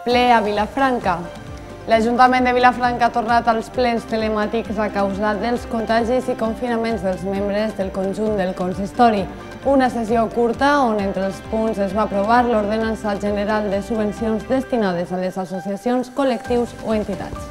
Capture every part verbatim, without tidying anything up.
Ple a Vilafranca. L'Ajuntament de Vilafranca ha tornat als plens telemàtics a causa dels contagis i confinaments dels membres del conjunt del consistori. Una sessió curta on entre els punts es va aprovar l'Ordenança General de Subvencions destinades a les associacions, col·lectius o entitats.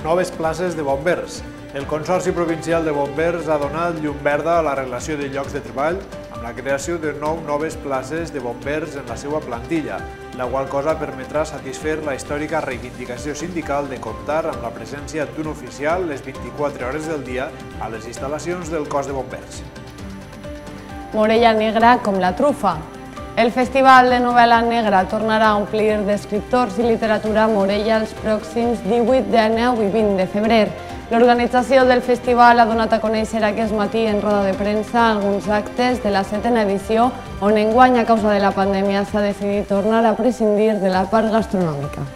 Noves places de bombers. El Consorci Provincial de Bombers ha donat llum verda a la relació de llocs de treball amb la creació de nou noves places de bombers en la seva plantilla, la qual cosa permetrà satisfer la històrica reivindicació sindical de comptar amb la presència d'un oficial les vint-i-quatre hores del dia a les instal·lacions del cos de bombers. Morella negra com la trufa. El Festival de Novel·la Negra tornarà a omplir d'escriptors i literatura a Morella els pròxims divuit, dinou i vint de febrer. L'organització del festival ha donat a conèixer aquest matí en roda de premsa alguns actes de la setena edició, on enguany a causa de la pandèmia s'ha decidit tornar a prescindir de la part gastronòmica.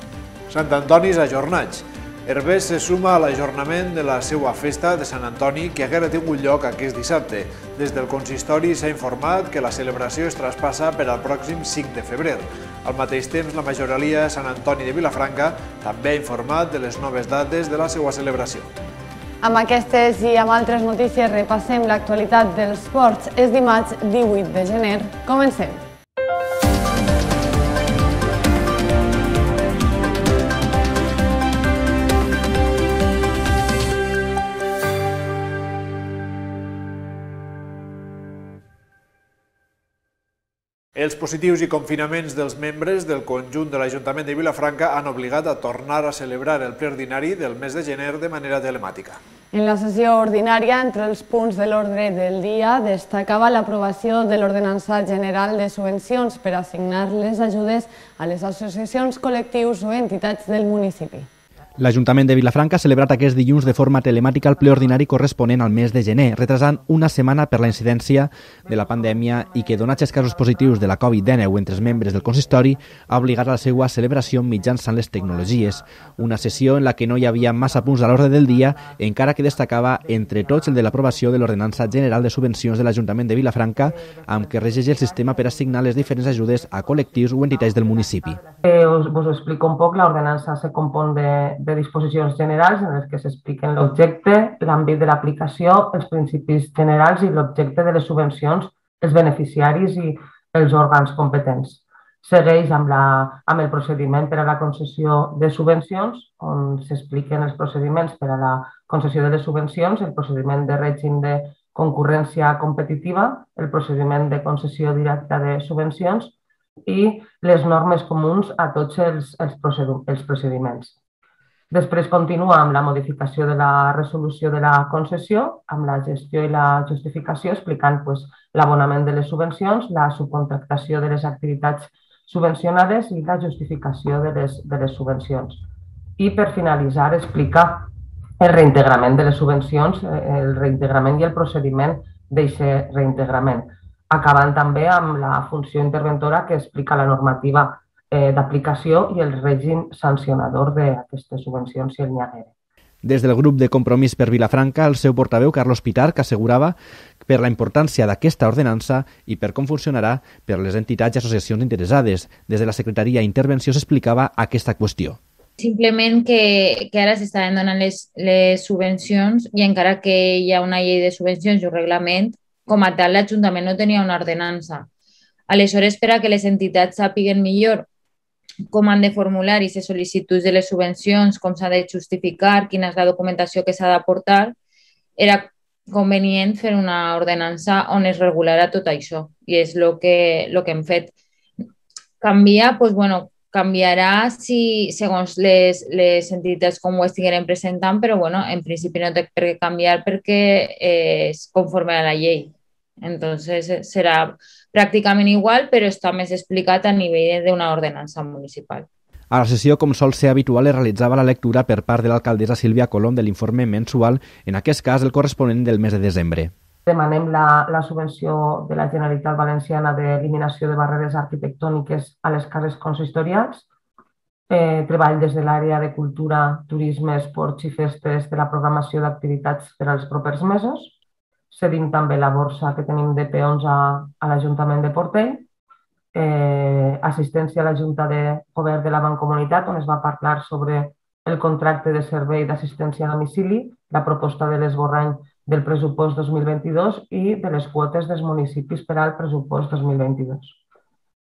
Sant Antonis ajornats. Herbers se suma a l'ajornament de la seva festa de Sant Antoni que haguera tingut lloc aquest dissabte. Des del consistori s'ha informat que la celebració es traspassa per al pròxim cinc de febrer. Al mateix temps, la majoralia de Sant Antoni de Vilafranca també ha informat de les noves dates de la seva celebració. Amb aquestes i amb altres notícies repassem l'actualitat dels ports. És dimarts divuit de gener. Comencem. Els positius i confinaments dels membres del conjunt de l'Ajuntament de Vilafranca han obligat a tornar a celebrar el ple ordinari del mes de gener de manera telemàtica. En la sessió ordinària, entre els punts de l'ordre del dia, destacava l'aprovació de l'Ordenança General de Subvencions per assignar les ajudes a les associacions, col·lectius o entitats del municipi. L'Ajuntament de Vilafranca ha celebrat aquest dilluns de forma telemàtica el ple ordinari corresponent al mes de gener, retrasant una setmana per la incidència de la pandèmia i que, donats els casos positius de la Covid dinou entre els membres del consistori, ha obligat a la seva celebració mitjançant les tecnologies. Una sessió en la que no hi havia massa punts a l'ordre del dia, encara que destacava entre tots el de l'aprovació de l'Ordenança General de Subvencions de l'Ajuntament de Vilafranca, amb què regeix el sistema per assignar les diferents ajudes a col·lectius o entitats del municipi. Eh, us, us explico un poc. L'ordenança se compon de de disposicions generals en les que s'expliquen l'objecte, l'àmbit de l'aplicació, els principis generals i l'objecte de les subvencions, els beneficiaris i els òrgans competents. Segueix amb, la, amb el procediment per a la concessió de subvencions, on s'expliquen els procediments per a la concessió de les subvencions, el procediment de règim de concurrència competitiva, el procediment de concessió directa de subvencions i les normes comuns a tots els, els, els procediments. Després continua amb la modificació de la resolució de la concessió, amb la gestió i la justificació, explicant pues, l'abonament de les subvencions, la subcontractació de les activitats subvencionades i la justificació de les, de les subvencions. I per finalitzar, explicar el reintegrament de les subvencions, el reintegrament i el procediment d'aquest reintegrament, acabant també amb la funció interventora que explica la normativa d'aplicació i el règim sancionador d'aquestes subvencions si el n'hi haguera. Des del grup de Compromís per Vilafranca, el seu portaveu, Carlos Pitar, que assegurava per la importància d'aquesta ordenança i per com funcionarà per les entitats i associacions interessades. Des de la Secretaria d'Intervenció s'explicava aquesta qüestió. Simplement que, que ara s'estaven donant les, les subvencions i encara que hi ha una llei de subvencions i un reglament, com a tal l'Ajuntament no tenia una ordenança. Aleshores, per a que les entitats sàpiguen millor com han de formular i les sol·licituds de les subvencions, com s'ha de justificar, quina és la documentació que s'ha d'aportar, era convenient fer una ordenança on es regularà tot això i és el que, lo que hem fet. Canvia, doncs, bueno, canviarà si, segons les, les entitats com ho estigueren presentant, però bueno, en principi no té per què canviar perquè és conforme a la llei. Entonces serà pràcticament igual, però està més explicat a nivell d'una ordenança municipal. A la sessió, com sol ser habitual, es realitzava la lectura per part de l'alcaldessa Sílvia Colom de l'informe mensual, en aquest cas el corresponent del mes de desembre. Demanem la, la subvenció de la Generalitat Valenciana d'eliminació de barreres arquitectòniques a les cases consistorials, eh, treball des de l'àrea de cultura, turisme, esports i festes de la programació d'activitats per als propers mesos. Cedim també la borsa que tenim de peons a, a l'Ajuntament de Portell eh, assistència a la Junta de Govern de la Mancomunitat, on es va parlar sobre el contracte de servei d'assistència a domicili, la proposta de l'esborrany del pressupost dos mil vint-i-dos i de les quotes dels municipis per al pressupost dos mil vint-i-dos.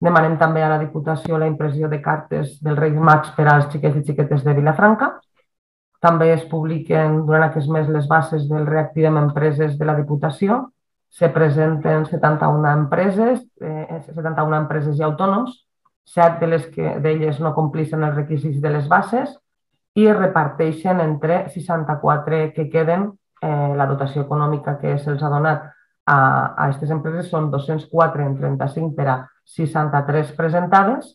Demanem també a la Diputació la impressió de cartes dels Reis Mags per als xiquets i xiquetes de Vilafranca. També es publiquen durant aquest mes les bases del Reactivem Empreses de la Diputació. Se presenten setanta-una empreses, eh, setanta-una empreses i autònoms, set de les que d'elles no compleixen els requisits de les bases i es reparteixen entre seixanta-quatre que queden. Eh, la dotació econòmica que se'ls ha donat a aquestes empreses són dos-cents quatre en trenta-cinc per a seixanta-tres presentades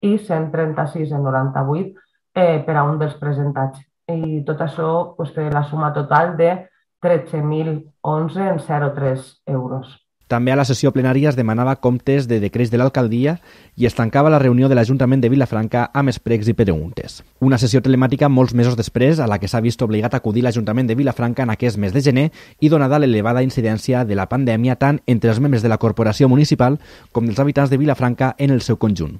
i cent trenta-sis en noranta-vuit eh, per a un dels presentats. I tot això pues, té la suma total de tretze mil onze en zero coma tres euros. També a la sessió plenària es demanava comptes de decrets de l'alcaldia i es tancava la reunió de l'Ajuntament de Vilafranca amb esprecs i preguntes. Una sessió telemàtica molts mesos després a la que s'ha vist obligat a acudir l'Ajuntament de Vilafranca en aquest mes de gener i donada l'elevada incidència de la pandèmia tant entre els membres de la corporació municipal com dels habitants de Vilafranca en el seu conjunt.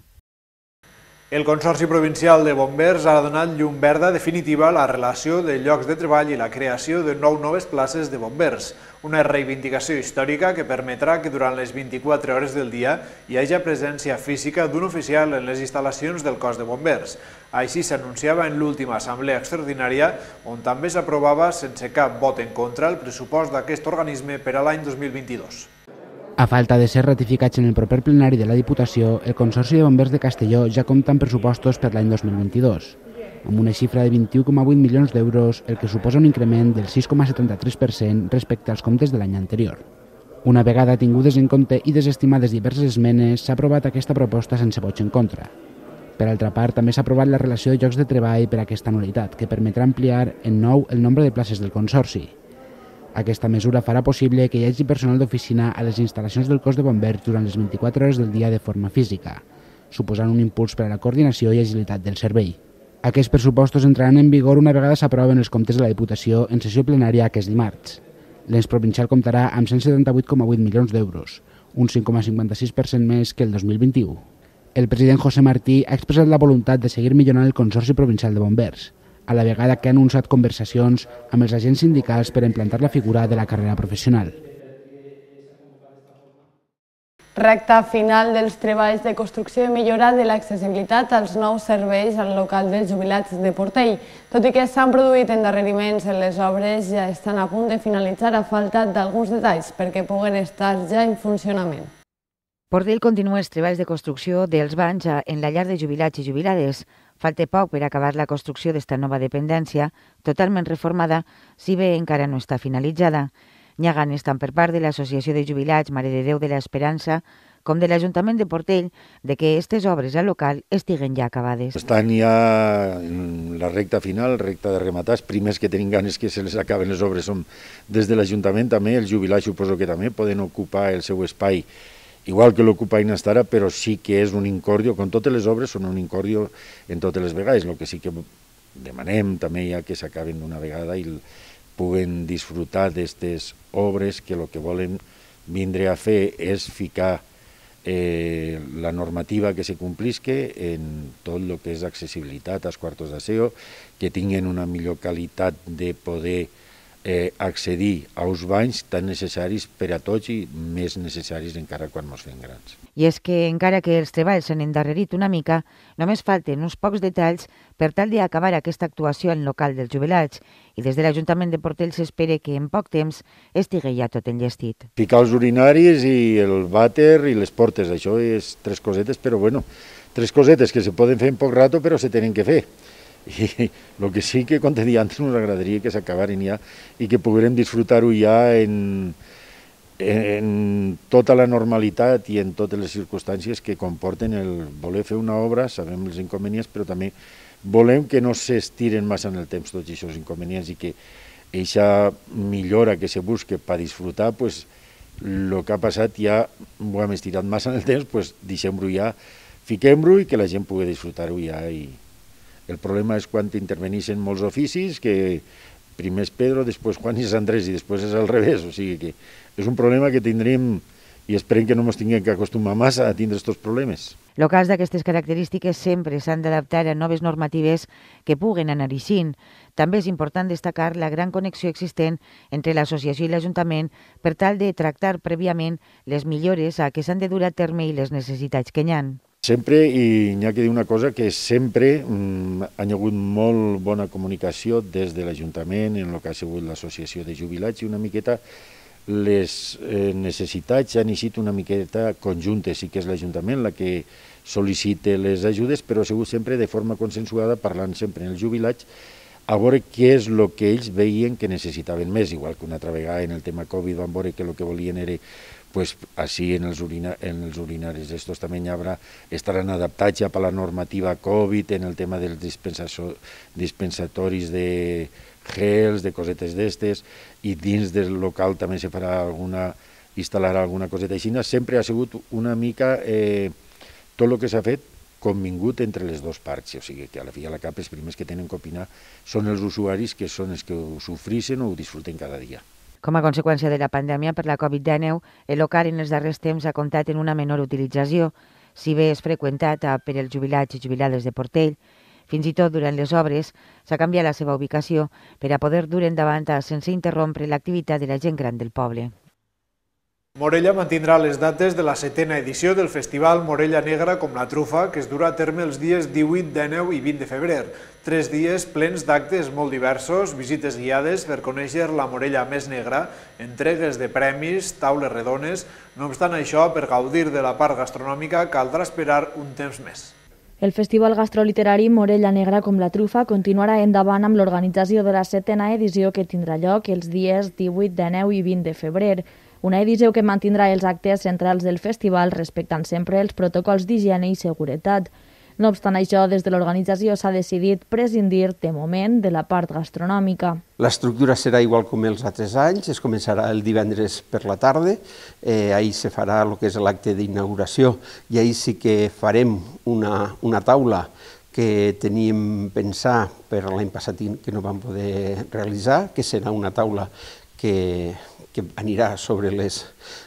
El Consorci Provincial de Bombers ha donat llum verda definitiva a la relació de llocs de treball i la creació de nou noves places de bombers, una reivindicació històrica que permetrà que durant les vint-i-quatre hores del dia hi hagi presència física d'un oficial en les instal·lacions del cos de bombers. Així s'anunciava en l'última assemblea extraordinària, on també s'aprovava sense cap vot en contra el pressupost d'aquest organisme per a l'any dos mil vint-i-dos. A falta de ser ratificats en el proper plenari de la Diputació, el Consorci de Bombers de Castelló ja compta amb pressupostos per l'any dos mil vint-i-dos, amb una xifra de vint-i-u coma vuit milions d'euros, el que suposa un increment del sis coma setanta-tres per cent respecte als comptes de l'any anterior. Una vegada tingudes en compte i desestimades diverses esmenes, s'ha aprovat aquesta proposta sense vots en contra. Per altra part, també s'ha aprovat la relació de llocs de treball per a aquesta anualitat, que permetrà ampliar en nou el nombre de places del Consorci. Aquesta mesura farà possible que hi hagi personal d'oficina a les instal·lacions del cos de bombers durant les vint-i-quatre hores del dia de forma física, suposant un impuls per a la coordinació i agilitat del servei. Aquests pressupostos entraran en vigor una vegada s'aproven els comptes de la Diputació en sessió plenària aquest dimarts. L'ens provincial comptarà amb cent setanta-vuit coma vuit milions d'euros, un cinc coma cinquanta-sis per cent més que el dos mil vint-i-u. El president José Martí ha expressat la voluntat de seguir millorant el Consorci Provincial de Bombers, a la vegada que ha anunciat conversacions amb els agents sindicals per a implantar la figura de la carrera professional. Recta final dels treballs de construcció i millora de l'accessibilitat als nous serveis al local dels jubilats de Portell. Tot i que s'han produït endarreriments en les obres, ja estan a punt de finalitzar a falta d'alguns detalls perquè puguen estar ja en funcionament. Portell continua els treballs de construcció dels banys en la llar de jubilats i jubilades. Falta poc per acabar la construcció d'esta nova dependència, totalment reformada, si bé encara no està finalitzada. N'hi ha ganes tant per part de l'Associació de Jubilats Mare de Déu de l'Esperança com de l'Ajuntament de Portell de que aquestes obres al local estiguen ja acabades. Estan ja en la recta final, recta de rematar. Els primers que tenim ganes que se les acaben les obres són des de l'Ajuntament també, els jubilats suposo que també poden ocupar el seu espai igual que l'ocupaven fins ara, però sí que és un incordio, com totes les obres són un incordio en totes les vegades. El que sí que demanem també ja que s'acaben d'una vegada i puguen disfrutar d'aquestes obres que el que volen vindre a fer és ficar eh, la normativa que se complisque en tot el que és accessibilitat als quartos d'aseo, que tinguin una millor qualitat de poder Eh, accedir als banys tan necessaris per a tots i més necessaris encara quan ens fem grans. I és que, encara que els treballs s'han endarrerit una mica, només falten uns pocs detalls per tal d'acabar aquesta actuació en local dels jubilats i des de l'Ajuntament de Portell s'espera que en poc temps estigui ja tot enllestit. Ficar els urinaris i el vàter i les portes, això és tres cosetes, però bueno, tres cosetes que se poden fer en poc rato però se tenen que fer. I el que sí que, com te deia antes, ens agradaria que s'acabaren ja i que poguérem disfrutar-ho ja en, en tota la normalitat i en totes les circumstàncies que comporten el voler fer una obra. Sabem els inconvenients, però també volem que no s'estiren massa en el temps tots aquests inconvenients i que aquesta millora que se busque per disfrutar, pues, el que ha passat ja ho hem estirat massa en el temps, pues, deixem-ho ja, fiquem-ho i que la gent pugui disfrutar-ho ja. I el problema és quan interveneixen molts oficis, que primer és Pedro, després Juan i és Andrés i després és al revés, o sigui que és un problema que tindrem i esperem que no ens tinguem que acostumar massa a tindre aquests problemes. Locals d'aquestes característiques sempre s'han d'adaptar a noves normatives que puguen anar eixint. També és important destacar la gran connexió existent entre l'associació i l'Ajuntament per tal de tractar prèviament les millores a què s'han de dur a terme i les necessitats que hi ha. Sempre, i n'hi ha que dir una cosa, que sempre mm, ha hagut molt bona comunicació des de l'Ajuntament en el que ha sigut l'associació de jubilats i una miqueta les eh, necessitats han eixit una miqueta conjuntes, sí que és l'Ajuntament la que sol·licita les ajudes, però ha sigut sempre de forma consensuada, parlant sempre en els jubilats, a veure què és el que ells veien que necessitaven més, igual que una altra vegada en el tema Covid van veure que el que volien era pues així en els, urina, en els urinaris. Estos també haurà, estaran adaptats ja per la normativa Covid en el tema dels dispensatoris de gels, de cosetes d'estes, i dins del local també se farà alguna, instal·larà alguna coseta així. Sempre ha sigut una mica eh, tot el que s'ha fet convingut entre les dues parts, o sigui que a la fi i a la cap els primers que tenen que opinar són els usuaris, que són els que ho sofrixen o ho disfruten cada dia. Com a conseqüència de la pandèmia per la Covid dinou, el local en els darrers temps ha comptat en una menor utilització, si bé és freqüentat per els jubilats i jubilades de Portell. Fins i tot durant les obres s'ha canviat la seva ubicació per a poder dur endavant sense interrompre l'activitat de la gent gran del poble. Morella mantindrà les dates de la setena edició del Festival Morella Negra com la Trufa, que es durà a terme els dies divuit, dinou i vint de febrer. Tres dies plens d'actes molt diversos, visites guiades per conèixer la Morella més negra, entregues de premis, taules redones. No obstant això, per gaudir de la part gastronòmica caldrà esperar un temps més. El Festival Gastroliterari Morella Negra com la Trufa continuarà endavant amb l'organització de la setena edició que tindrà lloc els dies divuit, dinou i vint de febrer. Una edició que mantindrà els actes centrals del festival respectant sempre els protocols d'higiene i seguretat. No obstant això, des de l'organització s'ha decidit prescindir de moment de la part gastronòmica. L'estructura serà igual com els altres anys, es començarà el divendres per la tarda, eh, ahir se farà el que és l'acte d'inauguració i ahir sí que farem una, una taula que teníem pensar per l'any passat que no vam poder realitzar, que serà una taula que, que anirà sobre les,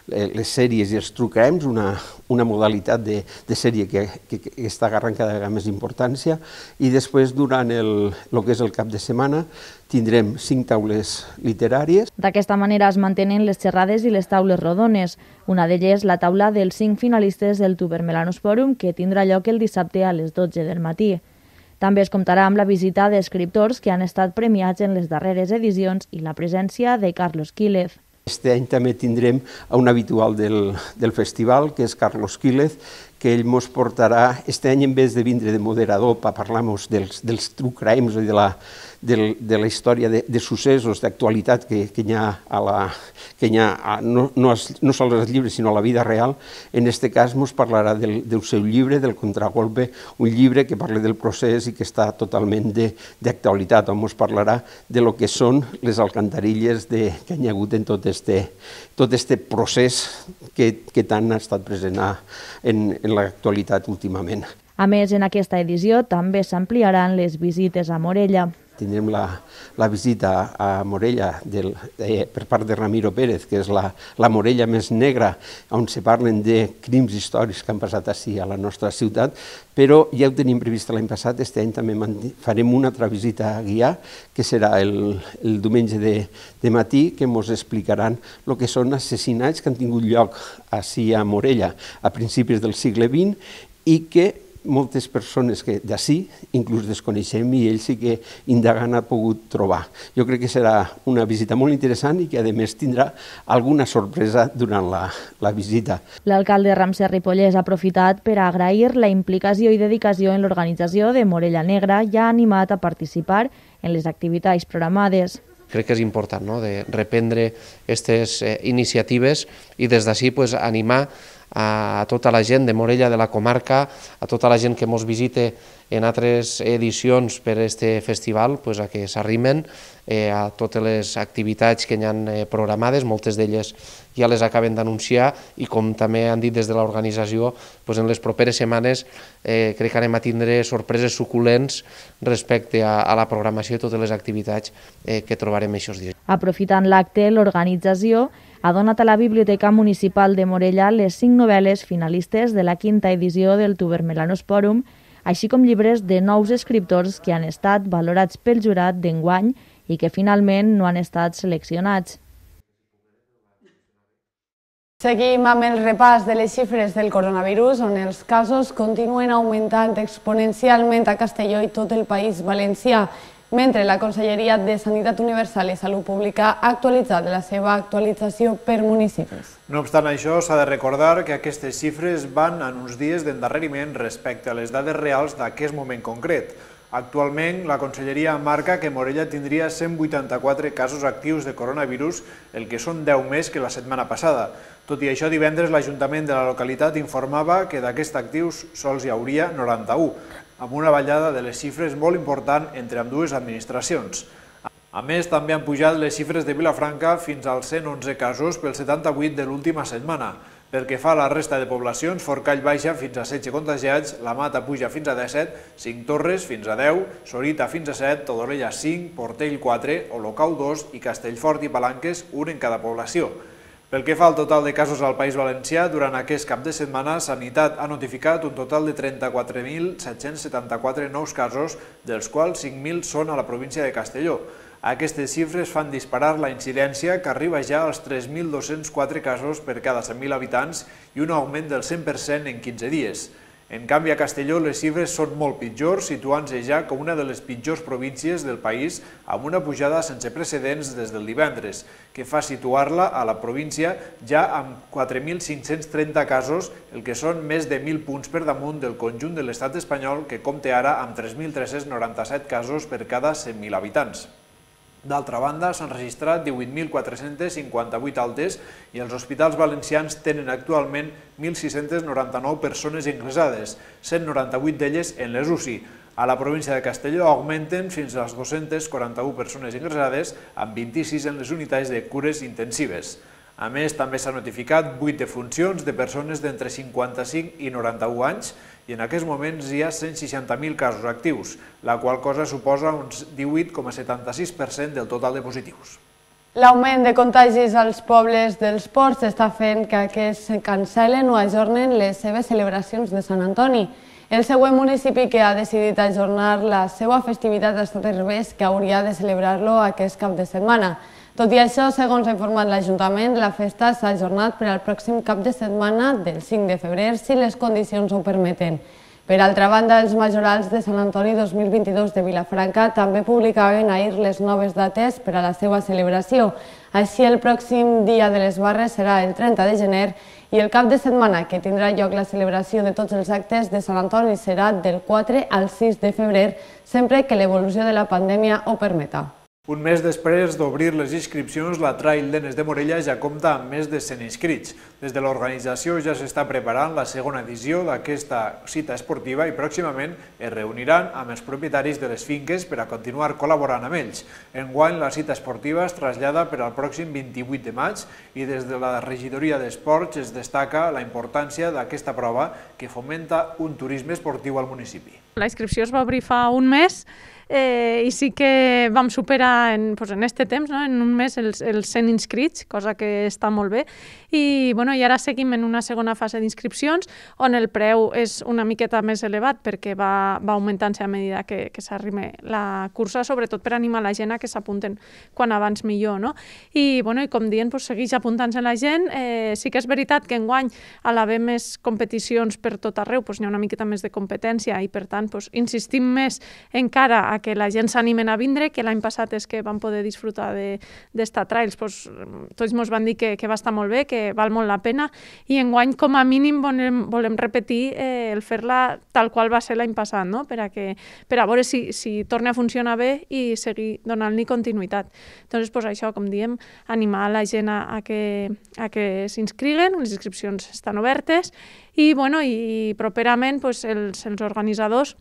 les sèries i els true crimes, una, una modalitat de, de sèrie que, que, que està agarrant cada vegada més importància, i després durant el, el que és el cap de setmana tindrem cinc taules literàries. D'aquesta manera es mantenen les xerrades i les taules rodones. Una d'elles la taula dels cinc finalistes del Tuber Melanosporum, que tindrà lloc el dissabte a les dotze del matí. També es comptarà amb la visita d'escriptors que han estat premiats en les darreres edicions i la presència de Carlos Quílez. Este any també tindrem a un habitual del, del festival, que és Carlos Quílez, que ell ens portarà, este any en vez de vindre de moderador per parlar-nos dels, dels true crimes i de la, de, de la història de, de successos, d'actualitat que, que hi ha, a la, que hi ha a, no, no, no sols als llibres, sinó a la vida real, en aquest cas ens parlarà del, del seu llibre, del Contragolpe, un llibre que parla del procés i que està totalment d'actualitat, on ens parlarà de lo que són les alcantarilles de, que hi ha hagut en tot este, tot este procés que, que tant ha estat present a, en, en l'actualitat últimament. A més, en aquesta edició també s'ampliaran les visites a Morella. Tindrem la, la visita a Morella del, eh, per part de Ramiro Pérez, que és la, la Morella més negra, on se parlen de crims històrics que han passat així a la nostra ciutat, però ja ho tenim previst l'any passat, aquest any també farem una altra visita a guiar, que serà el, el diumenge de, de matí, que ens explicaran el que són assassinats que han tingut lloc així a Morella a principis del segle vint i que moltes persones que d'ací inclús desconeixem i ells sí que indagant ha pogut trobar. Jo crec que serà una visita molt interessant i que a més tindrà alguna sorpresa durant la, la visita. L'alcalde Ramsès Ripollès ha aprofitat per agrair la implicació i dedicació en l'organització de Morella Negra i ha animat a participar en les activitats programades. Crec que és important, no?, de reprendre aquestes eh, iniciatives i des d'ací pues, animar a tota la gent de Morella, de la comarca, a tota la gent que ens visite en altres edicions per a aquest festival, pues, a que s'arrimen eh, a totes les activitats que hi han eh, programades, moltes d'elles ja les acaben d'anunciar i com també han dit des de l'organització, pues, en les properes setmanes eh, crec que anem a tindre sorpreses suculents respecte a, a la programació i totes les activitats eh, que trobarem aquests dies. Aprofitant l'acte, l'organització ha donat a la Biblioteca Municipal de Morella les cinc novel·les finalistes de la quinta edició del Tubermelanosporum, així com llibres de nous escriptors que han estat valorats pel jurat d'enguany i que finalment no han estat seleccionats. Seguim amb el repàs de les xifres del coronavirus, on els casos continuen augmentant exponencialment a Castelló i tot el País Valencià, mentre la Conselleria de Sanitat Universal i Salut Pública ha actualitzat la seva actualització per municipis. No obstant això, s'ha de recordar que aquestes xifres van en uns dies d'endarreriment respecte a les dades reals d'aquest moment concret. Actualment, la Conselleria marca que Morella tindria cent vuitanta-quatre casos actius de coronavirus, el que són deu més que la setmana passada. Tot i això, divendres l'Ajuntament de la localitat informava que d'aquests actius sols hi hauria noranta-u, amb una ballada de les xifres molt important entre ambdues administracions. A més, també han pujat les xifres de Vilafranca fins als cent onze casos pel setanta-vuit de l'última setmana. Pel que fa a la resta de poblacions, Forcall baixa fins a setze contagiats, La Mata puja fins a disset, Cinc Torres fins a deu, Sorita fins a set, Todolella cinc, Portell quatre, Olocau dos i Castellfort i Palanques un en cada població. Pel que fa al total de casos al País Valencià, durant aquest cap de setmana, Sanitat ha notificat un total de trenta-quatre mil set-cents setanta-quatre nous casos, dels quals cinc mil són a la província de Castelló. Aquestes xifres fan disparar la incidència, que arriba ja als tres mil dos-cents quatre casos per cada cent mil habitants i un augment del cent per cent en quinze dies. En canvi, a Castelló les xifres són molt pitjors, situant-se ja com una de les pitjors províncies del país, amb una pujada sense precedents des del divendres, que fa situar-la a la província ja amb quatre mil cinc-cents trenta casos, el que són més de mil punts per damunt del conjunt de l'estat espanyol, que compta ara amb tres mil tres-cents noranta-set casos per cada cent mil habitants. D'altra banda, s'han registrat divuit mil quatre-cents cinquanta-vuit altes i els hospitals valencians tenen actualment mil sis-cents noranta-nou persones ingressades, cent noranta-vuit d'elles en les U C I. A la província de Castelló augmenten fins a les dos-centes quaranta-u persones ingressades, amb vint-i-sis en les unitats de cures intensives. A més, també s'han notificat vuit defuncions de persones d'entre cinquanta-cinc i noranta-u anys, i en aquests moments hi ha cent seixanta mil casos actius, la qual cosa suposa un divuit coma setanta-sis per cent del total de positius. L'augment de contagis als pobles dels ports està fent que aquests cancel·len o ajornen les seves celebracions de Sant Antoni. El següent municipi que ha decidit ajornar la seva festivitat ha estat Herbers, que hauria de celebrar-lo aquest cap de setmana. Tot i això, segons ha informat l'Ajuntament, la festa s'ha ajornat per al pròxim cap de setmana del cinc de febrer, si les condicions ho permeten. Per altra banda, els majorals de Sant Antoni dos mil vint-i-dos de Vilafranca també publicaven ahir les noves dates per a la seva celebració. Així, el pròxim dia de les barres serà el trenta de gener i el cap de setmana que tindrà lloc la celebració de tots els actes de Sant Antoni serà del quatre al sis de febrer, sempre que l'evolució de la pandèmia ho permeta. Un mes després d'obrir les inscripcions, la Trail d'Enes de Morella ja compta amb més de cent inscrits. Des de l'organització ja s'està preparant la segona edició d'aquesta cita esportiva i pròximament es reuniran amb els propietaris de les finques per a continuar col·laborant amb ells. Enguany, la cita esportiva es trasllada per al pròxim vint-i-vuit de maig i des de la regidoria d'Esports es destaca la importància d'aquesta prova que fomenta un turisme esportiu al municipi. La inscripció es va obrir fa un mes Eh, i sí que vam superar en, pues, en este temps, no? En un mes, els, els cent inscrits, cosa que està molt bé. I, bueno, i ara seguim en una segona fase d'inscripcions, on el preu és una miqueta més elevat perquè va, va augmentant-se a medida que, que s'arrima la cursa, sobretot per animar la gent a que s'apunten quan abans millor, no? I, bueno, i com dient, pues, segueix apuntant-se la gent. Eh, sí que és veritat que enguany, a l'haver més competicions per tot arreu, pues, hi ha una miqueta més de competència i, per tant, pues, insistim més encara a que la gent s'animen a vindre, que l'any passat és que van poder disfrutar d'esta trails, pues, tots ens van dir que, que va estar molt bé, que val molt la pena, i enguany com a mínim volem, volem repetir eh, el fer-la tal qual va ser l'any passat, no? per, a que, per a veure si, si torna a funcionar bé i seguir donant-li continuïtat. Doncs pues, això, com diem, animar la gent a, a que, a que s'inscriguen, les inscripcions estan obertes, i, bueno, i properament pues, els, els organitzadors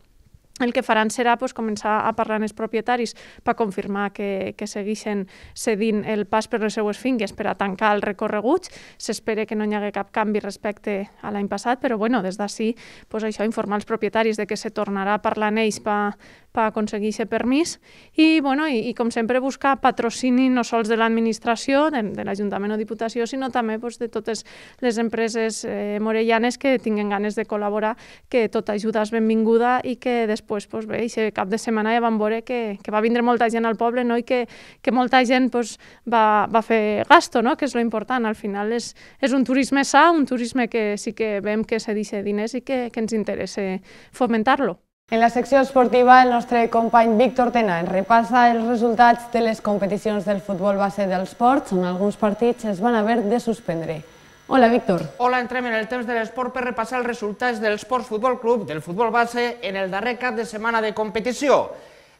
el que faran serà pues, començar a parlar amb els propietaris per confirmar que, que segueixen cedint el pas per les seues finques per a tancar els recorreguts. S'espera que no hi hagi cap canvi respecte a l'any passat, però bueno, des d'ací pues, això, informar els propietaris de que se tornarà a parlar amb ells per per aconseguir aquest permís i, bueno, i, i com sempre, buscar patrocini no sols de l'administració, de, de l'Ajuntament o Diputació, sinó també pues, de totes les empreses eh, morellanes que tinguen ganes de col·laborar, que tota ajuda és benvinguda i que després, pues, bé, aquest cap de setmana ja vam veure que, que va vindre molta gent al poble, no? I que, que molta gent pues, va, va fer gasto, no? Que és lo important. Al final és, és un turisme sa, un turisme que sí que veiem que se deixa diners i que, que ens interessa fomentar-lo. En la secció esportiva, el nostre company Víctor Tena ens repassa els resultats de les competicions del futbol base dels Ports, on alguns partits es van haver de suspendre. Hola, Víctor. Hola, entrem en el temps de l'esport per repassar els resultats del Ports Futbol Club del futbol base en el darrer cap de setmana de competició.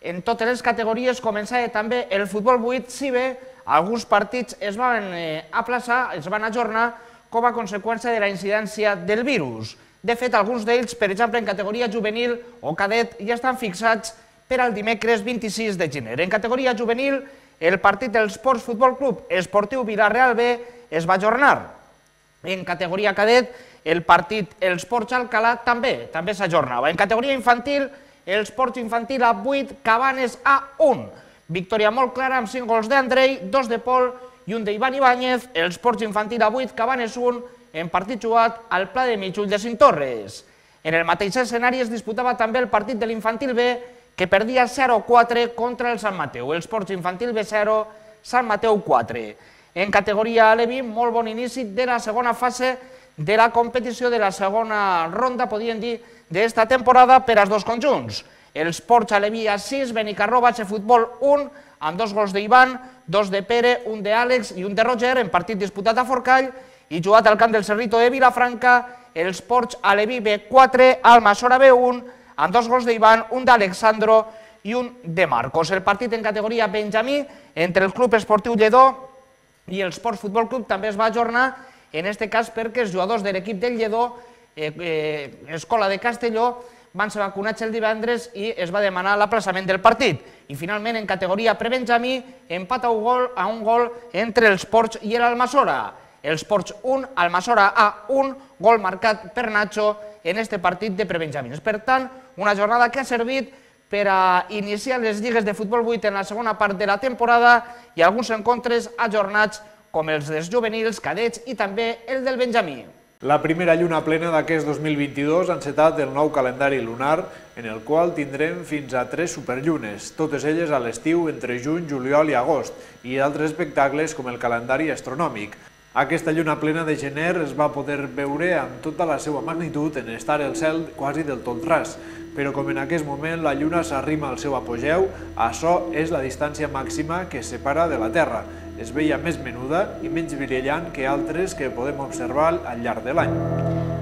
En totes les categories començava també el futbol vuit, si bé alguns partits es van eh, aplaçar, es van ajornar com a conseqüència de la incidència del virus. De fet, alguns d'ells, per exemple, en categoria juvenil o cadet, ja estan fixats per al dimecres vint-i-sis de gener. En categoria juvenil, el partit del Ports Futbol Club Esportiu Vila-real B es va ajornar. En categoria cadet, el partit els Ports Alcalà també també s'ajornava. En categoria infantil, els Ports Infantil A vuit, Cabanes A un. Victòria molt clara amb cinc gols d'Andrei, dos de Pol i un d'Ivan Ibáñez. Els Ports Infantil A vuit, Cabanes un, en partit jugat al Pla de Mitjull de Cintorres. En el mateix escenari es disputava també el partit de l'Infantil B, que perdia zero quatre contra el Sant Mateu. Els Ports Infantil B zero, Sant Mateu quatre. En categoria Alevi, molt bon inici de la segona fase de la competició, de la segona ronda, podríem dir, d'esta temporada per als dos conjunts. Els Ports Alevi A sis, Benicarró Base Futbol un, amb dos gols d'Ivan, dos de Pere, un d'Àlex i un de Roger, en partit disputat a Forcall, i jugat al camp del Cerrito de Vilafranca, els Ports Alevi B quatre, Almassora B un, amb dos gols d'Ivan, un d'Alexandro i un de Marcos. El partit en categoria Benjamí, entre el Club Esportiu Lledó i el Ports Futbol Club, també es va ajornar, en aquest cas perquè els jugadors de l'equip del Lledó, eh, eh, Escola de Castelló, van ser vacunats el divendres i es va demanar l'aplaçament del partit. I finalment, en categoria prebenjamí, empat a un gol, a un gol entre els Ports i l'Almassora. Els Ports un, Almassora A un, gol marcat per Nacho en aquest partit de prebenjamins. Per tant, una jornada que ha servit per a iniciar les lligues de futbol vuit en la segona part de la temporada i alguns encontres ajornats com els dels juvenils, cadets i també el del benjamí. La primera lluna plena d'aquest dos mil vint-i-dos ha encetat el nou calendari lunar, en el qual tindrem fins a tres superllunes, totes elles a l'estiu entre juny, juliol i agost, i altres espectacles com el calendari astronòmic. Aquesta lluna plena de gener es va poder veure amb tota la seva magnitud en estar el cel quasi del tot ras, però com en aquest moment la lluna s'arrima al seu apogeu, açò és la distància màxima que separa de la Terra. Es veia més menuda i menys brillant que altres que podem observar al llarg de l'any.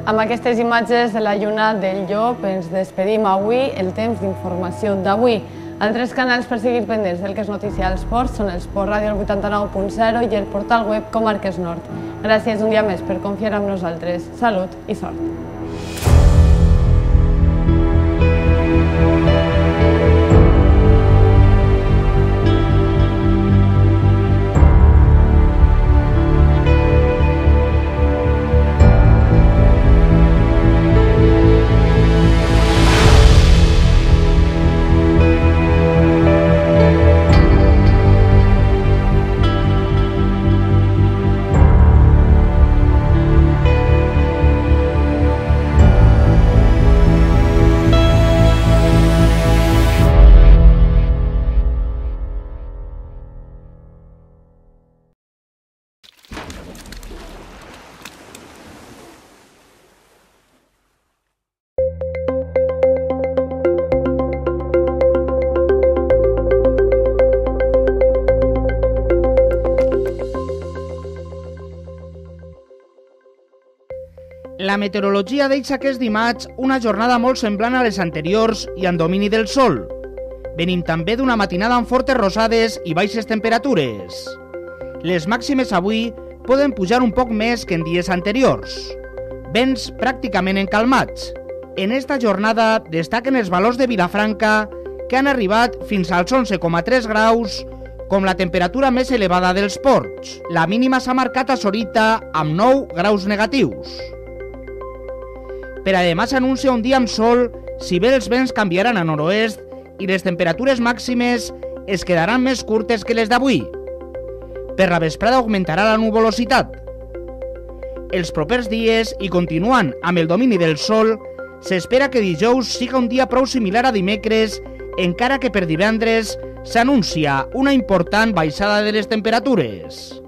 Amb aquestes imatges de la lluna del llop ens despedim avui el temps d'informació d'avui. Altres canals per seguir pendents del que és notícia als ports són el Sport Ràdio vuitanta-nou punt zero i el portal web Comarques Nord. Gràcies un dia més per confiar en nosaltres. Salut i sort. La meteorologia deixa aquest dimarts una jornada molt semblant a les anteriors i amb domini del sol. Venim també d'una matinada amb fortes rosades i baixes temperatures. Les màximes avui poden pujar un poc més que en dies anteriors. Vents pràcticament encalmats. En esta jornada destaquen els valors de Vilafranca, que han arribat fins als onze coma tres graus, com la temperatura més elevada dels ports. La mínima s'ha marcat a Sorita amb nou graus negatius. Per a demà s'anuncia un dia amb sol, si bé els vents canviaran a nord-oest i les temperatures màximes es quedaran més curtes que les d'avui. Per la vesprada augmentarà la nuvolositat. Els propers dies, i continuant amb el domini del sol, s'espera que dijous siga un dia prou similar a dimecres, encara que per divendres s'anuncia una important baixada de les temperatures.